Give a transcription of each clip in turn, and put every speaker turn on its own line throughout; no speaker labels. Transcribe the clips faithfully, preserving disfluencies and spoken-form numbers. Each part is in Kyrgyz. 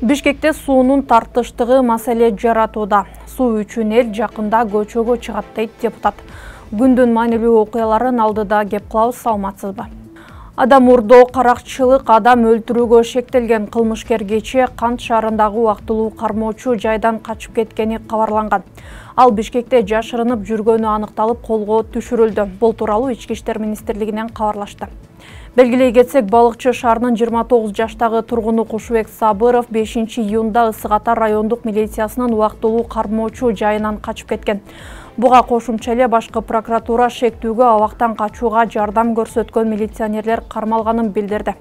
Бишкекте суунун тартыштыгы маселе жаратууда. Суу үчүн эл жакында көчөгө чыгат дейт депутат. Күндүн маанилүү окуяларын алдыда кеп кылабыз, саламатсызбы? Адам урдоо, каракчылык, адам өлтүрүүгө шектелген кылмышкер кечээ Кант шаарындагы убактылуу кармоочу жайдан качып кеткени кабарланган. Ал Бишкекте жашырынып жүргөнү аныкталып, колго түшүрүлдү. Бул тууралуу Ички иштер министрлигинен кабарлашты. Белгилей кетсек, Балыкчы шаарынын жыйырма тогуз жаштагы тургуну Кушубек Сабыров бешинчи июнда Ысык Ата райондук милициясынын убактылуу кармоочу жайынан качып кеткен. Буга кошумча эле башкы прокуратура шектүүгө абактан качууга жардам көрсөткөн милиционерлер кармалганын билдирди.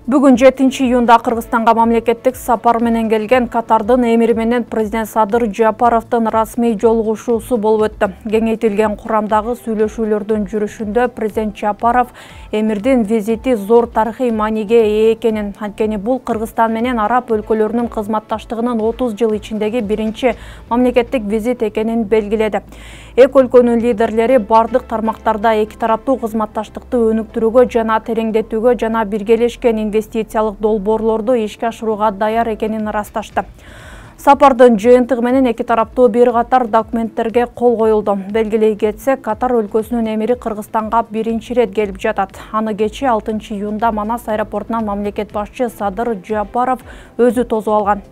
Бүгүн жетинчи июнда Кыргызстанга мамлекеттик сапар менен келген Катардын эмири менен президент Садыр Жапаровдун расмий жолугушуусу болуп өттү. Кеңейтилген курамдагы сүйлөшүүлөрдүн жүрүшүндө президент Жапаров эмирдин визити зор тарыхый мааниге ээ экенин, анткени бул Кыргызстан менен араб өлкөлөрүнүн кызматташтыгынын отуз жыл ичиндеги биринчи мамлекеттик визит экенин белгиледи. Эки өлкөнүн лидерлери бардык тармактарда эки тараптуу кызматташтыкты өнүктүрүүгө жана тереңдетүүгө жана биргелешкен инвестициялык долбоорлорду ишке ашырууга даяр экенин ырасташты. Сапардын жыйынтыгы менен эки тараптуу бир катар документтерге кол коюлду. Белгилей кетсек, Катар өлкөсүнүн эмири Кыргызстанга биринчи ирет келип жатат. Аны кечээ алтынчы июнда Манас аэропортунан мамлекет башчы Садыр Жапаров өзү тосуп алган.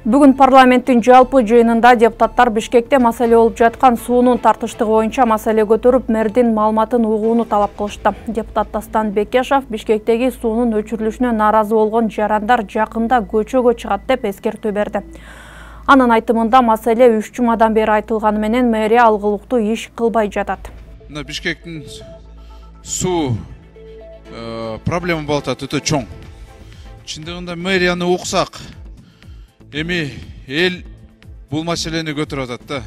Бүгүн парламенттин жалпы жыйынында депутаттар Бишкекте маселе болуп жаткан суунун тартыштыгы боюнча маселе көтөрүп, мэрдин маалыматын угууну талап кылышты. Депутат Дастан Бекешов Бишкектеги суунун өчүрүлүшүнө нааразы болгон жарандар жакында көчөгө чыгат деп эскертүү берди. Анын айтымында маселе үч жумадан бери айтылганы менен мэрия алгылыктуу иш кылбай жатат.
Мына Бишкектин суу проблема болуп атат, өтө чоң. Чындыгында мэрияны уксак, эми эл бул маселени көтөрүп атат да.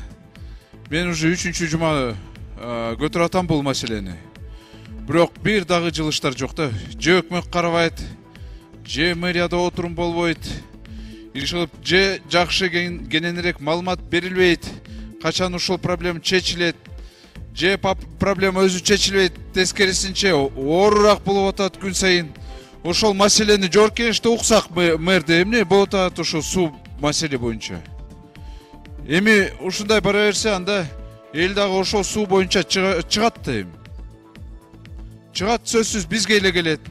Мен уже үчүнчү жума көтөрүп атам бул маселени. Бирок бир дагы жылыштар жок да. Же өкмөт карабайт, же мэрияда отурум болбойт. Ишилип же жакшы кененирээк маалымат берилбейт. Качан ушул проблема чечилет, же проблема өзү чечилбейт, тескерисинче оорураак болуп атат күн сайын. Ошол маселени жогорку кеңеште уксак мэрде эмне болуп атат ошол суу маселе боюнча. Эми ушундай бара берсе, анда эл дагы ошол суу боюнча чыгат да эми. Чыгат, сөзсүз бизге эле келет.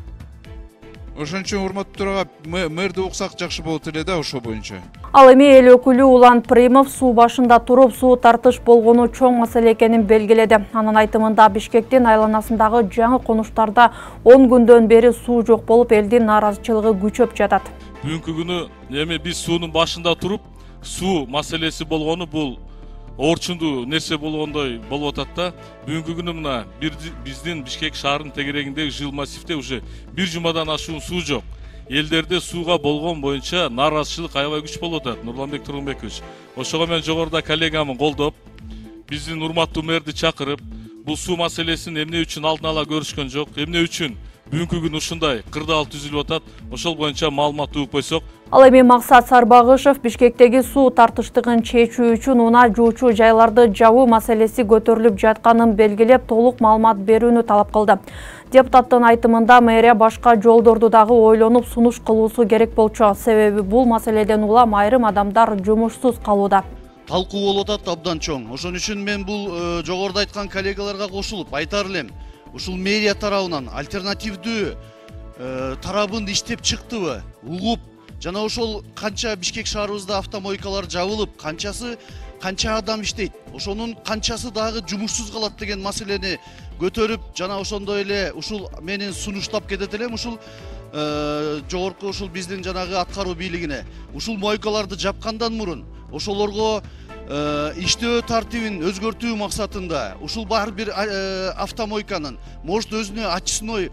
Ошон үчүн урматтуу төрага мэрди уксак жакшы болот эле да ошол боюнча.
Ал эми эл өкүлү Улан Примов суу башында туруп суу тартыш болгону чоң маселе экенин белгиледи. Анын айтымында Бишкектин айланасындагы жаңы конуштарда он күндөн бери суу жок болуп, элдин нааразычылыгы күчөп жатат.
Бүгүнкү күнү эми биз суунун башында туруп, суу маселеси болгону бул орчундуу нерсе болгондой болуп атат да. Бүгүнкү күнү мына биздин Бишкек шаарынын тегерегиндеги жыл массивде уже бир жумадан ашуун суу жок. Элдерде сууга болгон боюнча нааразычылык аябай күч болуп атат, Нурланбек Тургунбекович. Ошого мен жогоруда коллегамын колдоп, биздин урматтуу мэрди чакырып, бул суу маселесин эмне үчүн алдын ала көрүшкөн жок, эмне үчүн бүгүнкү күн ушундай кырдаал түзүлүп атат, ошол боюнча маалымат угуп койсок.
Ал эми Максат Сарбагышев Бишкектеги суу тартыштыгын чечүү үчүн унаа жуучу жайларды жабуу маселеси көтөрүлүп жатканын белгилеп, толук маалымат берүүнү талап кылды. Депутаттын айтымында мэрия башка жолдорду дагы ойлонуп сунуш кылуусу керек болчу, себеби бул маселеден улам айрым адамдар жумушсуз калууда.
Талкуу болуп атат абдан чоң. Ошон үчүн мен бул жогоруда айткан коллегаларга кошулуп айтар элем. Ушул мэрия тарабынан альтернативдүү тарабын иштеп чыктыбы, угуп, жана ошол канча Бишкек шаарыбызда автомойкалар жабылып, канчасы канча адам иштейт, ошонун канчасы дагы жумушсуз калат деген маселени көтөрүп жана ошондой эле ушул менин сунуштап кетет элем ушул жогорку ушул биздин жанагы аткаруу бийлигине ушул мойкаларды жапкандан мурун ошолорго иштөө тартибин өзгөртүү максатында ушул бар бир автомойканын может өзүнө очистной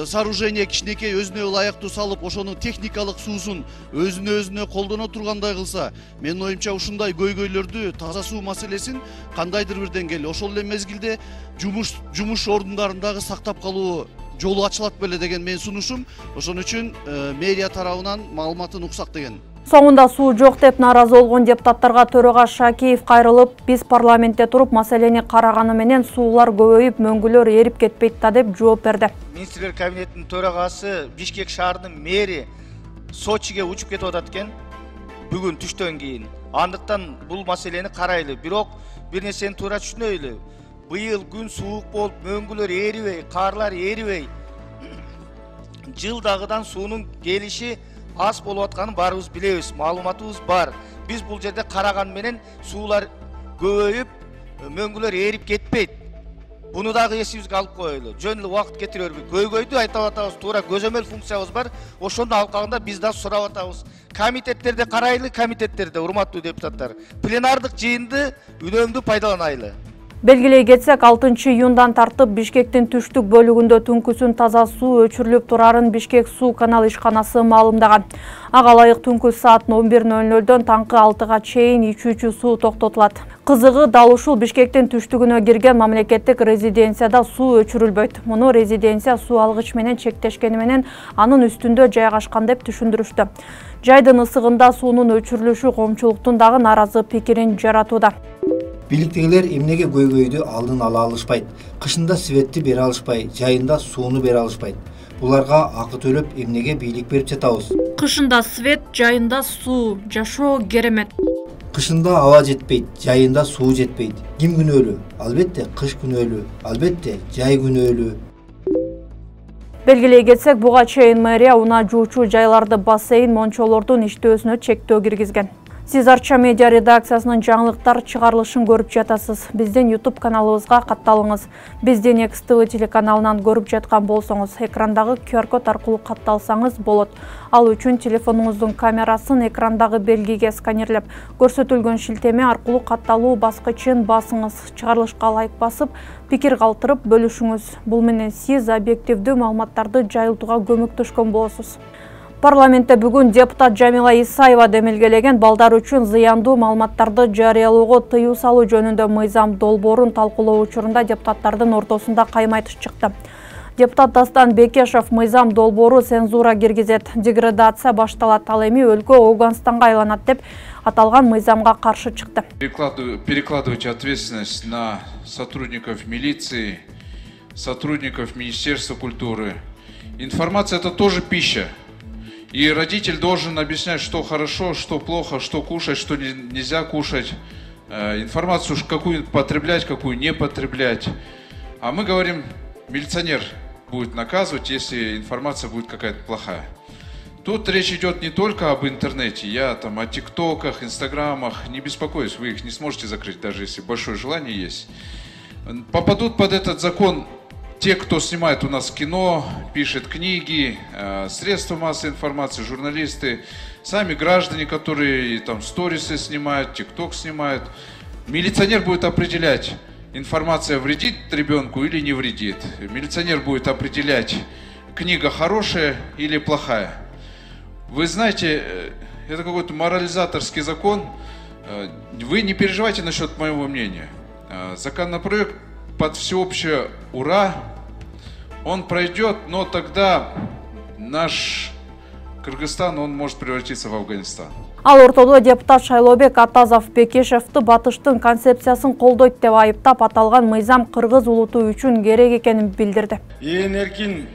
сооружение кичинекей өзүнө ылайыктуу салып ошонун техникалык суусун өзүнө өзүнө колдоно тургандай кылса, менин оюмча ушундай көйгөйлөрдү таза суу маселесин кандайдыр бир деңгээлде ошол эле мезгилде жумуш жумуш ордундарын дагы сактап калуу жолу ачылат беле деген менин сунушум. Ошон үчүн мэрия тарабынан маалыматын уксак деген.
Соңунда суу жок деп нааразы болгон депутаттарга төрага Шакиев кайрылып, биз парламентте туруп маселени караганы менен суулар көбөйүп, мөңгүлөр эрип кетпейт да деп жооп берди.
Министрлер кабинетинин төрагасы Бишкек шаарынын мэри Сочиге учуп кетип атат экен бүгүн түштөн кийин. Андыктан бул маселени карайлы. Бирок бир нерсени туура түшүнөйлү. Быйыл күн суук болуп, мөңгүлөр эрибей, карлар эрибей, жылдагыдан суунун келиши аз болуп атканын баарыбыз билебиз, маалыматыбыз бар. Биз бул жерде караган менен суулар көбөйүп, мөңгүлөр эрип кетпейт. Буну дагы эсибизге алып коелу. Жөн эле убакыт кетирерби? Көйгөйдү айтып атабыз, туура көзөмөл функциябыз бар. Ошондун алкагында биз да сурап атабыз. Комитеттерде карайлы, комитеттерде, урматтуу депутаттар. Пленардык жыйынды үнөмдүү пайдаланайлы.
Белгилей кетсек, алтынчы июндан тартып Бишкектин түштүк бөлүгүндө түнкүсүн таза суу өчүрүлүп турарын Бишкек суу канал ишканасы маалымдаган. Ага ылайык түнкү саат он бир ноль нолдон таңкы алтыга чейин ичүүчү суу токтотулат. Кызыгы дал ушул Бишкектин түштүгүнө кирген мамлекеттик резиденцияда суу өчүрүлбөйт. Муну резиденция суу алгыч менен чектешкени менен анын үстүндө жайгашкан деп түшүндүрүштү. Жайдын ысыгында суунун өчүрүлүшү коомчулуктун дагы нааразы пикирин жаратууда.
Бийликтегилер эмнеге көйгөйдү алдын ала алышпайт? Кышында светти бере алышпай, жайында сууну бере алышпайт. Буларга акы төлөп эмнеге бийлик берип жатабыз?
Кышында свет, жайында суу, жашоо керемет.
Кышында аба жетпейт, жайында суу жетпейт. Ким күнөөлүү? Албетте кыш күнөөлүү, албетте жай күнөөлүү.
Белгилей кетсек, буга чейин мэрия унаа жуучу жайларды бассейн, мончолордун иштөөсүнө чектөө киргизген. Сиз Арча медиа редакциясынын жаңылыктар чыгарылышын көрүп жатасыз. Биздин YouTube каналыбызга катталыңыз. Бизди Next ти ви телеканалынан көрүп жаткан болсоңуз, экрандагы ку ар код аркылуу катталсаңыз болот. Ал үчүн телефонуңуздун камерасын экрандагы белгиге сканерлеп, көрсөтүлгөн шилтеме аркылуу катталуу баскычын басыңыз. Чыгарылышка лайк басып, пикир калтырып бөлүшүңүз. Бул менен сиз объективдүү маалыматтарды жайылтууга көмөктөшкөн болосуз. Парламентте бүгүн депутат Жамила Исаева демилгелеген балдар үчүн зыяндуу маалыматтарды жарыялоого тыюу салуу жөнүндө мыйзам долбоорун талкуулоо учурунда депутаттардын ортосунда каймайтыш чыкты. Депутат Дастан Бекешев мыйзам долбоору цензура киргизет, деградация башталат, ал эми өлкө Ауганстанга айланат деп аталган мыйзамга каршы чыкты.
Перекладывать ответственность на сотрудников милиции, сотрудников Министерства культуры. Информация — это тоже пища. И родитель должен объяснять, что хорошо, что плохо, что кушать, что нельзя кушать. Информацию какую потреблять, какую не потреблять. А мы говорим, милиционер будет наказывать, если информация будет какая-то плохая. Тут речь идет не только об интернете. Я там о тиктоках, инстаграмах не беспокоюсь. Вы их не сможете закрыть, даже если большое желание есть. Попадут под этот закон те, кто снимает у нас кино, пишет книги, средства массовой информации, журналисты, сами граждане, которые там сторисы снимают, тикток снимают. Милиционер будет определять, информация вредит ребенку или не вредит. Милиционер будет определять, книга хорошая или плохая. Вы знаете, это какой-то морализаторский закон. Вы не переживайте насчет моего мнения. Законопроект под всеобщее ура, он пройдет, но тогда наш Кыргызстан, он может превратиться в Афганистан.
Ал ортодо депутат Шайлообек Атазов Бекешевти батыштын концепциясын колдойт деп айыптап, аталган мыйзам кыргыз улуту үчүн керек экенин билдирди.
Ээн эркин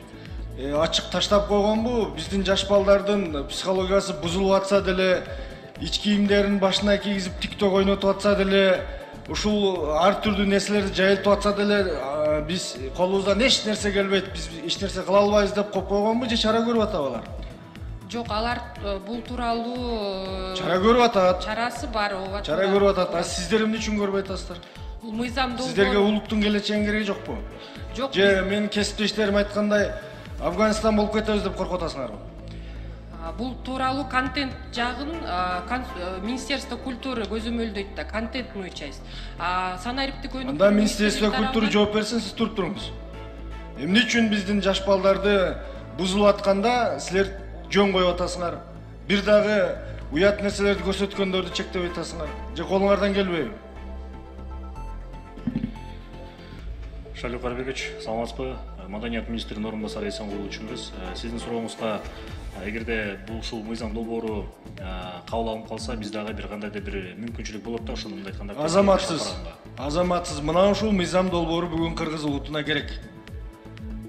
ачык таштап койгонбу? Биздин жаш балдардын психологиясы бузулуп атса деле, ич кийимдерин башына кийгизип тикток ойнотуп атса деле, ушул ар түрдүү нерселерди жайылтып атса деле, биз колубуздан эч нерсе келбейт, биз эч нерсе кыла албайбыз деп коюп койгонбу же чара көрүп атабы алар?
Жок, алар бул тууралуу
чара көрүп атат.
Чарасы бар, ооба.
Чара көрүп атат. А сиздер эмне үчүн көрбөй атасыздар?
бул мыйзам
Сиздерге
долбоору
улуттун келечегин кереги жокпу?
жок.
Же менин кесиптештерим айткандай Афганистан болуп кетебиз деп коркуп атасыңарбы?
А, бул тууралуу контент жагын а, кон- э, Министерство культуры көзөмөлдөйт да, контентную часть. А санариптик өнүктүрүү
Анда Министерство
министрлиги
культуры
тарабынан-
жооп берсин, сиз туруп туруңуз. Эмне үчүн биздин жаш балдарды бузулуп атканда силер жөн коюп атасыңар? Бир дагы уят нерселерди көрсөткөндөрдү чектеп атасыңар. Же колуңардан келбейби?
Шалик Карабекович, саламатсызбы? Маданият министринин орун басары Эсен Кулучунбуз. Сиздин сурооңузга, эгерде бул ушул мыйзам долбоору кабыл алынып калса, биз дагы бир кандайдыр бир мүмкүнчүлүк болот да, ошону мындай айтканда.
Азаматсыз. Азаматсыз. Мына ушул мыйзам долбоору бүгүн кыргыз улутуна керек.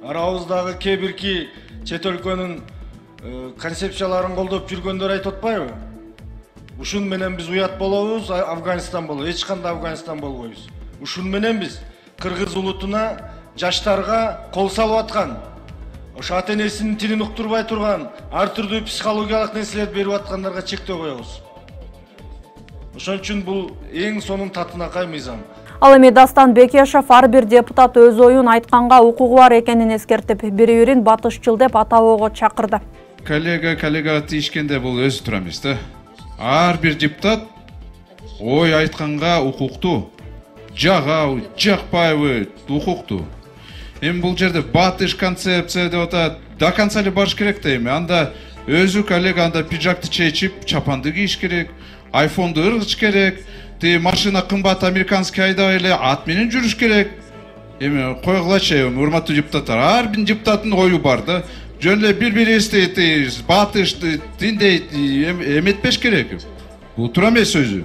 Арабыздагы кээ бирки чет өлкөнүн концепцияларын колдоп жүргөндөр айтып атпайбы? Ушун менен биз уят болобуз, Афганистан болобуз. Эч кандай Афганистан болбойбуз. Ушун менен биз кыргыз улутуна жаштарга кол салып аткан, ошо ата энесинин тилин уктурбай турган, ар түрдүү психологиялык нерселерди берип аткандарга чектөө коебуз. Ошон үчүн бул эң сонун татынакай мыйзам.
Ал эми Дастан Бекешев ар бир депутат өз оюн айтканга укугу бар экенин эскертип, бири-бирин батышчыл деп атабоого чакырды.
Коллега коллегага тийишкенде бул өзү тура эмес да. Ар бир депутат ой айтканга укуктуу. Жагабы, жакпайбы, укуктуу. Эми бул жерде батыш концепция деп атат. До конца эле барыш керек да эми. Анда өзү коллега анда пиджакты чечип, чапанды кийиш керек, айфонду ыргыч керек. Ти машина кымбат американский айдабай эле ат менен жүрүш керек. Эми койгулачы, урматтуу депутаттар, ар бир депутаттын ою бар да. Жөн эле бири-бирибизди батышты тиндейт эметпеш керек. Бул туура эмес өзү.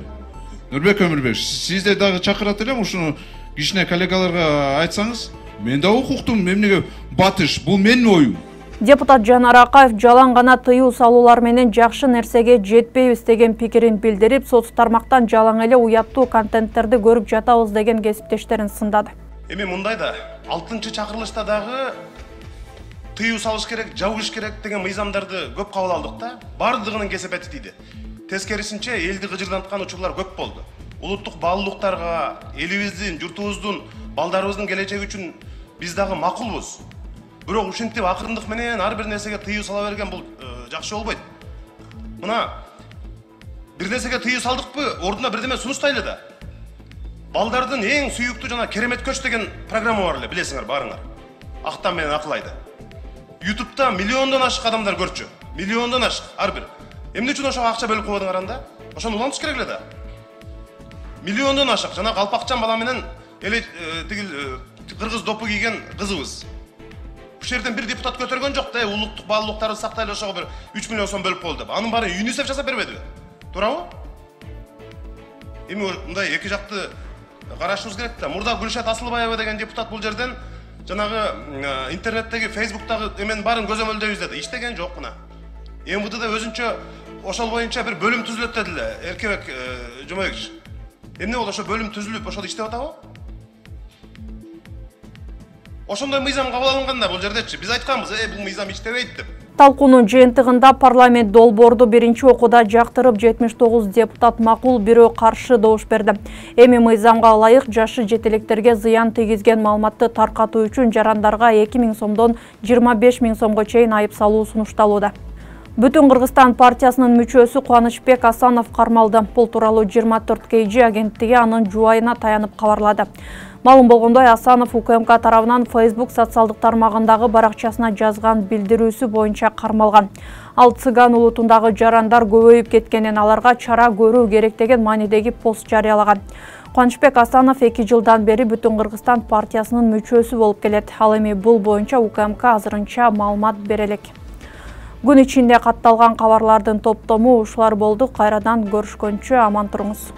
Нурбек Өмүрбек, сизде дагы чакырат элем, ушуну кичине коллегаларга айтсаңыз. Мен да укуктум, эмнеге батыш, бул менин оюм.
Депутат Жанар Акаев жалаң гана тыюу салуулар менен жакшы нерсеге жетпейбиз деген пикирин билдирип, соц тармактан жалаң эле уяттуу контенттерди көрүп жатабыз деген кесиптештерин сындады.
Эми мындай да, алтынчы чакырылышта дагы тыюу салыш керек, жабыш керек деген мыйзамдарды көп кабыл алдык да. Бардыгынын кесепети тийди. Тескерисинче элди кыжырданткан учурлар көп болду. Улуттук баалуулуктарга, элибиздин, журтубуздун, балдарыбыздын келечеги үчүн биз дагы макулбуз. Бирок ушинтип акырындык менен ар бир нерсеге тыюу сала берген бул жакшы болбойт. Мына бир нерсеге тыюу салдыкпы, ордуна бирдеме сунуштайлы да. Балдардын эң сүйүктүү жана керемет көч деген программа бар эле, билесиңер баарыңар. Актан менен акылайды. ютубта миллиондон ашык адамдар көрчү. Миллиондон ашык ар бир. Эмне үчүн ошого акча бөлүп койдуңар анда? Ошону улантыш керек эле да. Миллиондон ашык жана калпакчан бала менен эле тигил кыргыз допу кийген кызыбыз. Бул жерден бир депутат көтөргөн жок да, улуттук баалуулуктарды сактайлы ошого бир үч миллион сом бөлүп койду деп. Анын баарын ЮНИСЕФ жасап бербедиби? Туурабы? Эми мындай эки жакты карашыбыз керек да. Мурда Гүлшат Асылбаева деген депутат бул жерден жанагы интернеттеги, фейсбуктагы эменин баарын көзөмөлдөйбүз деди. Иштеген жок мына. эм вэ дэ өзүнчө ошол боюнча бир бөлүм түзүлөт дедиле, Эркебек Жомабекович. Эмне болду, ошо бөлүм түзүлүп, ошол иштеп атабы? Ошондой мыйзам кабыл алынганда бул жердечи биз айтканбыз, э бул мыйзам иштебейт деп.
Талкуунун жыйынтыгында парламент долбоорду биринчи окууда жактырып жетимиш тогуз депутат макул, бирөө каршы добуш берди. Эми мыйзамга ылайык жашы жетелектерге зыян тийгизген маалыматты таркатуу үчүн жарандарга эки миң сомдон жыйырма беш миң сомго чейин айып салуу сунушталууда. Бүтүн Кыргызстан партиясынын мүчөсү Кубанычбек Асанов кармалды. Бул тууралуу жыйырма төрт кей жи агенттиги анын жубайына таянып кабарлады. Малым болгондой, Асанов У К М К тарабынан Facebook социалдык тармагындагы баракчасына жазган билдирүүсү боюнча кармалган. Ал цыган улутундагы жарандар көбөйүп кеткенин, аларга чара көрүү керек деген маанидеги пост жарыялаган. Кубанычбек Асанов эки жылдан бери Бүтүн Кыргызстан партиясынын мүчөсү болуп келет. Ал эми бул боюнча У К М К азырынча маалымат бере элек. Күн ичинде катталган кабарлардын топтому ушулар болду. Кайрадан көрүшкөнчө аман туруңуз.